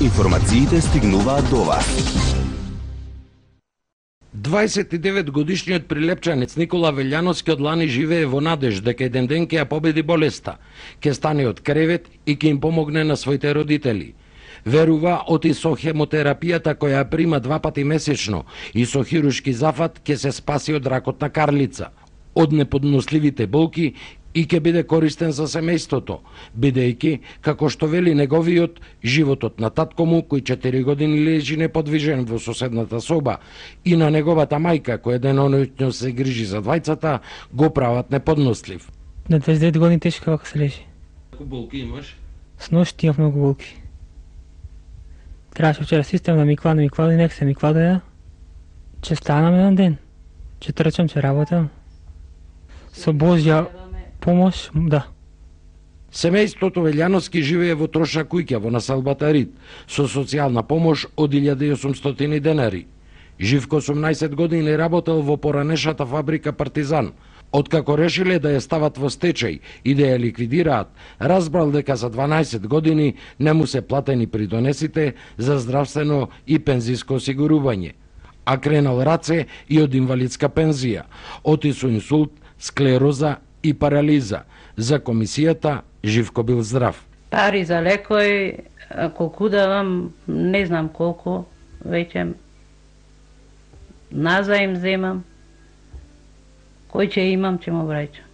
Информациите стигнуваат до вас. 29 годишниот прилепчанец Никола Велјановски од лани живее во надеж дека еден ден ќе ја победи болеста, ќе стане од кревет и ќе им помогне на своите родители. Верува оти со хемотерапијата која ја прима 2 пати месечно и со хируршки зафат ќе се спаси од ракот на карлица, од неподносливите болки и ќе биде користен за семејството, бидејќи, како што вели неговиот, животот на татко му, кој 4 години лежи неподвижен во соседната соба, и на неговата мајка, која деноноќно се грижи за двајцата, го прават неподнослив. На 29 години тешко како се лежи. Колку болки имаш? С ношти имав многу болки. Требаше вчера систем да ми кладе и нека се ми кладе. Че станам еден ден. Че трчам, че работам. Со Божја помош, да. Семејството Велјановски живее во трошна куќа во населбата Рид, со социјална помош од 1800 денари. Живко 18 години работел во поранешната фабрика Партизан. Откако решиле да ја стават во стечај и да ја ликвидираат, разбрал дека за 12 години не му се платени придонесите за здравствено и пензиско осигурување. А кренал раце и од инвалидска пензија, оти со инсулт, склероза и парализа. За комисијата Живко бил здрав. Пари за лекој, колку давам, не знам колку, веќе назаим земам. Кој ќе имам, ќе му враќам.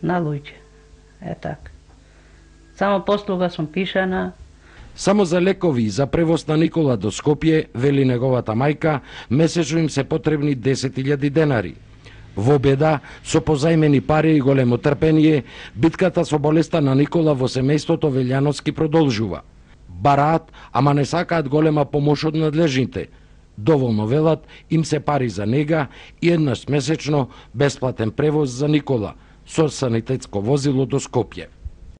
На луѓе. Так. Само послуга сум пишана. Само за лекови и за превоз на Никола до Скопје, вели неговата мајка, месечно им се потребни 10.000 денари. Во беда, со позајмени пари и големо трпение, битката со болеста на Никола во семејството Велјановски продолжува. Бараат, ама не сакаат голема помош од надлежните. Доволно велат им се пари за нега и еднаш месечно бесплатен превоз за Никола со санитетско возило до Скопје.